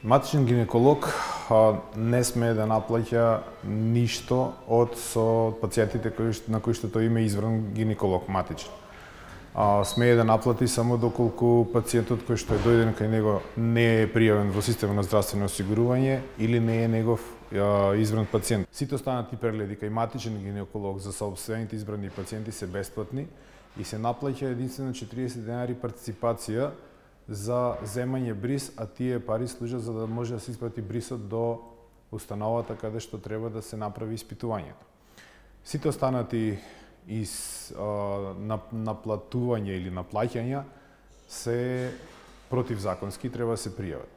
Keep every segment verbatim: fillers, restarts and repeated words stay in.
Матичен гинеколог не смее да наплаќа ништо од со пациентите кои, на кои што тој има избран гинеколог матичен. А, смее да наплати само доколку пациентот кој што е дојден кај него не е пријавен во системот на здравствено осигурување или не е негов а, избран пациент. Сите останати прегледи кај матичен гинеколог за сопствените избрани пациенти се бесплатни и се наплаќа единствено четириесет денари партиципација за земање бриз, а тие пари служат за да може да се испрати брисот до установата каде што треба да се направи испитувањето. Сите останати из а, наплатување или наплаќања се противзаконски, треба да се пријават.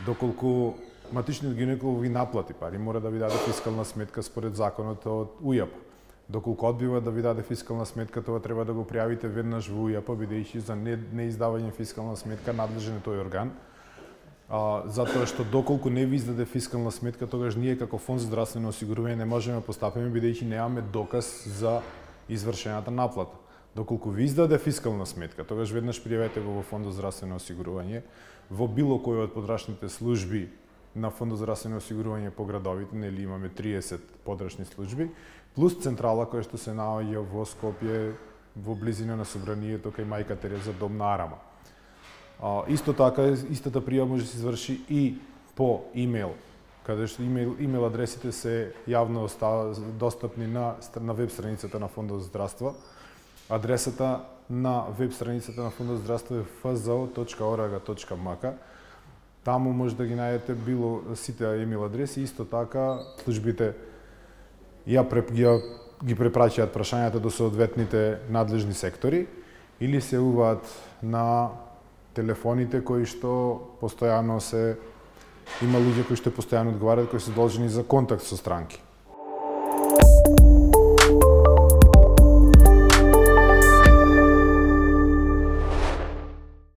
Доколку матичниот гинеколог ви наплати пари, мора да ви даде фискална сметка според законот од УЈАП. Доколку одбива да ви даде фискална сметка, тоа треба да го пријавите веднаш во УЈАП, бидејќи за не, неиздавање фискална сметка надлежен е тој орган. А, затоа што доколку не ви издаде фискална сметка, тогаш ние како фонд за здравствено осигурување не можеме да постапиме, бидејќи немаме доказ за извршената наплата. Доколку ви издаде фискална сметка, тогаш веднаш пријавете го во фонд за здравствено осигурување, во било кој од подрачните служби на фонд за здравствено осигурување по градовите, нели имаме триесет подрачни служби, плюс централа која што се наоѓа во Скопје, во близина на собранието кај Мајка Тереза, дом на Арама. А, исто така, истата пријава може да се изврши и по имејл, каде што имејл, имејл адресите се јавно достапни на, на веб страницата на Фондот за здравство. Адресата на веб страницата на Фондот за здравство е еф зет о точка орг точка ем ка. Таму може да ги најдете било сите имејл адреси, исто така службите ја, ја ги препраќаат прашањата до соодветните надлежни сектори или се јавуваат на телефоните кои што постојано се има луѓе кои што постојано одговараат, кои се должени за контакт со странки.